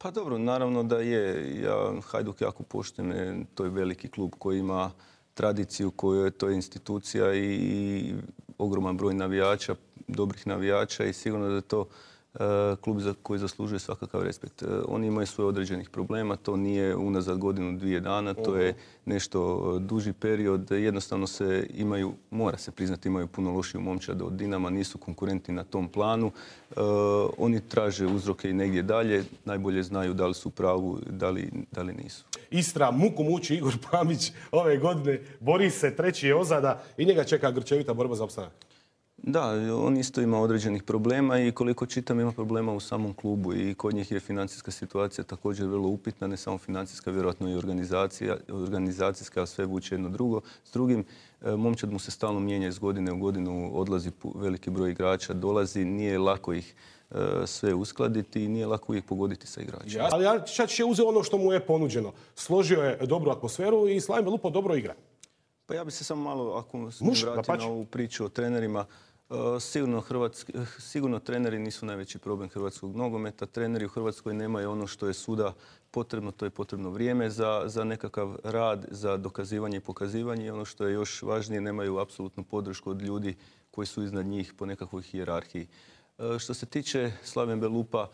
Pa dobro, naravno da je. Ja Hajduk jako poštujem, to je veliki klub koji ima tradiciju, to je institucija i ogroman broj navijača, dobrih navijača i sigurno da je to klub koji zaslužuje svakakav respekt. Oni imaju svoje određenih problema, to nije unazad godinu, dvije dana, to je nešto duži period. Jednostavno mora se priznati, imaju puno lošiju momčad od Dinama, nisu konkurenti na tom planu. Oni traže uzroke i negdje dalje, najbolje znaju da li su u pravu, da li nisu. Istra, muku muči Igor Pamić ove godine, bori se, treći je ozada i njega čeka grčevita borba za opstanak. Da, on isto ima određenih problema i koliko čitam ima problema u samom klubu i kod njih je financijska situacija također vrlo upitna, ne samo financijska, vjerojatno i organizacijska, ali sve vuče jedno drugo. S drugim, momčad mu se stalno mijenja iz godine u godinu, odlazi veliki broj igrača, dolazi, nije lako ih sve uskladiti i nije lako uvijek pogoditi sa igračima. Ali Čačić je uzeo ono što mu je ponuđeno. Složio je dobru atmosferu i Slaven Belupo dobro igra. Pa ja bih se samo malo, ako se vratio na ovu priču o trenerima, sigurno treneri nisu najveći problem hrvatskog nogometa. Treneri u Hrvatskoj nemaju ono što je suda potrebno, to je potrebno vrijeme za nekakav rad, za dokazivanje i pokazivanje. I ono što je još važnije, nemaju apsolutnu podršku od ljudi koji su iznad njih po nekakvoj hijerarhiji. Što se tiče Slaven Belupa,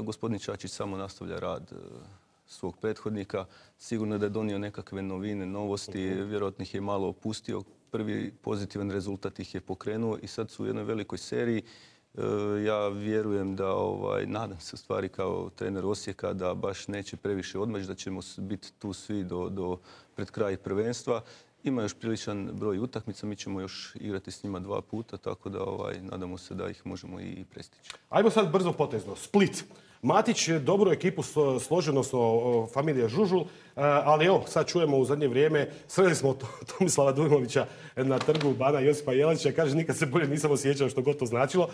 gospodin Čačić samo nastavlja rad svog prethodnika. Sigurno da je donio nekakve novine, novosti, vjerojatno ih je malo opustio. Prvi pozitivan rezultat ih je pokrenuo i sad su u jednoj velikoj seriji. Ja vjerujem da, nadam se u stvari kao trener Osijeka da baš neće previše odmaći, da ćemo biti tu svi pred kraj prvenstva. Ima još priličan broj utakmica, mi ćemo još igrati s njima 2 puta, tako da nadamo se da ih možemo i prestići. Ajmo sad brzo potezno. Split. Matić je dobru ekipu složeno s familije Žužul, ali evo, sad čujemo u zadnje vrijeme, sreli smo Tomislava Dujmovića na trgu Bana Josipa Jelačića, kaže nikad se bolje nisam osjećao što god to značilo.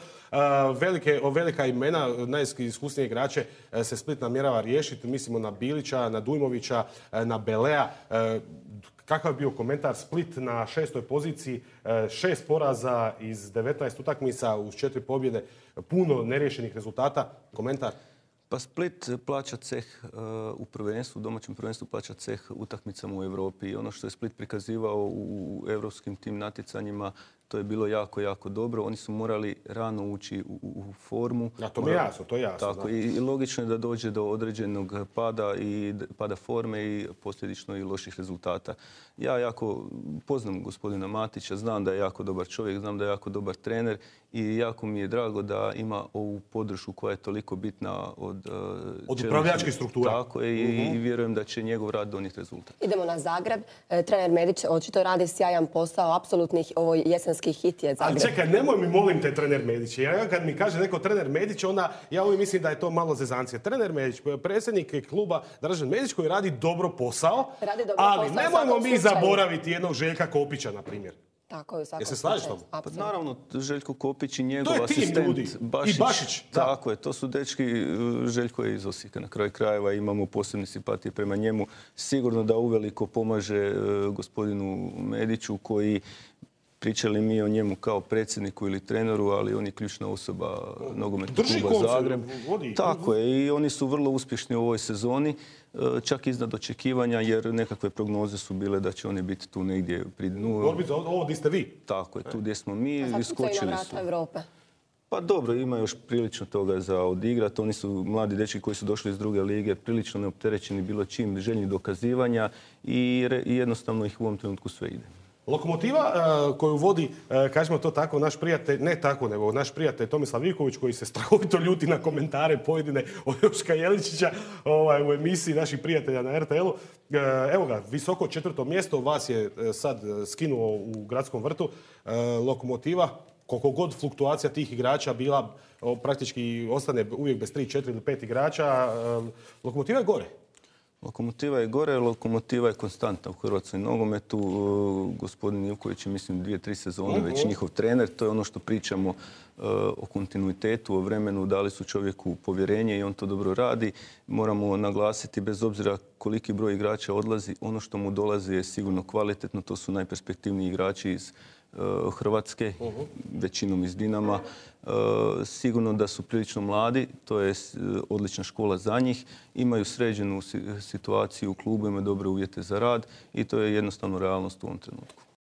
Velika imena, najiskusnije igrače se Split namjerava riješiti, mislimo na Bilića, na Dujmovića, na Belea. Kakav je bio komentar? Split na 6. poziciji, 6 poraza iz 19 utakmica uz 4 pobjede, puno neriješenih rezultata. Komentar? Pa Split plaća ceh u prvenstvu, u domaćem prvenstvu plaća ceh utakmicama u Europi. I ono što je Split prikazivao u europskim tim natjecanjima, to je bilo jako, jako dobro. Oni su morali rano ući u formu. Ja, to mi je jasno, to je jasno. Tako, i logično je da dođe do određenog pada forme i posljedično i loših rezultata. Ja jako poznam gospodina Matića, znam da je jako dobar čovjek, znam da je jako dobar trener i jako mi je drago da ima ovu podršku koja je toliko bitna od upravljačkih struktura. Tako je, i vjerujem da će njegov rad donijeti rezultat. Idemo na Zagreb. Trener Medić očito radi sjajan posao, apsolutnih ovo jesenski hit je Zagreb. Ali čekaj, nemoj mi molim te trener Medić. Ja kad mi kaže neko trener Medić, onda ja uvijek mislim da je to malo zezancija. Trener Medić, predsjednik kluba Dražen Medić koji radi dobro posao, ali nemojmo mi zaboraviti jednog Željka Kopića, na primjer. Tako je, u svakom slučaju. Jel se slažeš tom? Pa naravno, Željko Kopić i njegov asistent i Bašić. Tako je, to su dečki. Željko je iz Osijeka na kraju krajeva, imamo posebne simpatije prema njemu. Sigurno da uveliko pomaže gospodinu Mediću koji, pričali mi o njemu kao predsjedniku ili treneru, ali on je ključna osoba nogometnog kluba Zagreb. Tako je, i oni su vrlo uspješni u ovoj sezoni, čak iznad očekivanja, jer nekakve prognoze su bile da će oni biti tu negdje pri dnu. Borbi za ovo gdje ste vi. Tako je, tu gdje smo mi, iskočili su. A sad na vrata Europe. Pa dobro, ima još prilično toga za odigrati. Oni su mladi dečki koji su došli iz druge lige, prilično neopterećeni bilo čim, željni dokazivanja i jednostavno ih u ovom trenutku sve ide. Lokomotiva koju vodi, kažemo to tako, naš prijatelj, ne tako, nego naš prijatelj Tomislav Ivković koji se strahovito ljuti na komentare pojedine od Joška Jeličića u emisiji naših prijatelja na RTL-u. Evo ga, visoko 4. mjesto, vas je sad skinuo u Gradskom vrtu. Lokomotiva, koliko god fluktuacija tih igrača bila, praktički ostane uvijek bez 3, 4 ili 5 igrača. Lokomotiva je gore. Lokomotiva je gore, Lokomotiva je konstantna u hrvatskom nogometu. Gospodin Ivković je, mislim, 2-3 sezone već njihov trener. To je ono što pričamo o kontinuitetu, o vremenu, dali su čovjeku povjerenje i on to dobro radi. Moramo naglasiti, bez obzira koliki broj igrača odlazi, ono što mu dolazi je sigurno kvalitetno. To su najperspektivniji igrači iz Hrvatske, većinom iz Dinama. Sigurno da su prilično mladi, to je odlična škola za njih. Imaju sređenu situaciju u klubu, imaju dobre uvjete za rad i to je jednostavno realnost u ovom trenutku.